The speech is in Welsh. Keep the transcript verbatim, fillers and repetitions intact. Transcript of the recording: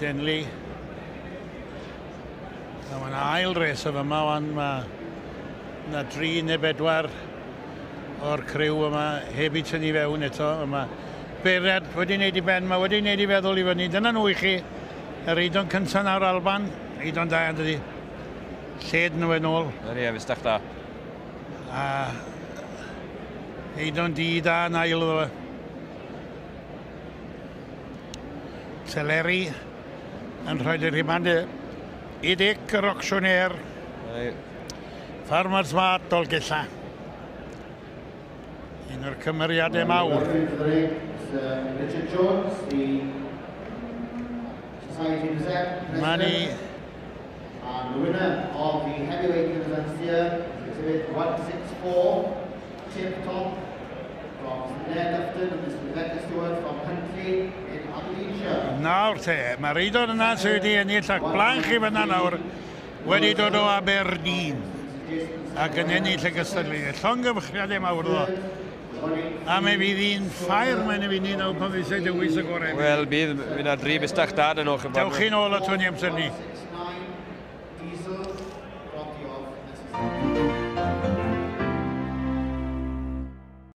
Denley. A mae'n ail res o fyma, wan mae yna dri neu bedwar o'r criw yma heb i tynnu fewn eto. Yma beirniad wedi wneud i ben, mae wedi wneud i feddwl i fyny. Dyna nhw i chi, yr eidon cyntaf nawr Alban, eidon da yn dydi. Lled nhw yn ôl. Ydy, e, fustach da. A eidon di da yn ail iddo fe. Teleri yn rhoi i'r rhimand i Dic yr auctioneer. Farmers Mart Dolgella. Un o'r cymeriadau mawr. Richard Jones, the Society President. Manny. And the winner of the heavyweight division here is exhibit one six four, Tip Top from Blair Dufton and Miss Rebecca Stewart from Huntley in Aberdeenshire. Nawr te, mae'r eiddo yna sydd wedi ennill ac blaen chi fyna nawr wedi dod o Aberdeen ac yn ennill y gystadleuaeth. Llongyfarchiadau mawr ddo. A mi fydd hi'n ffair mae'n i fynd i nawr pan fydd eisiau dewis y gorau. Wel, bydd, fydd yna dri bustach da yn o'ch. Dewch chi'n ôl at hwn i amser ni.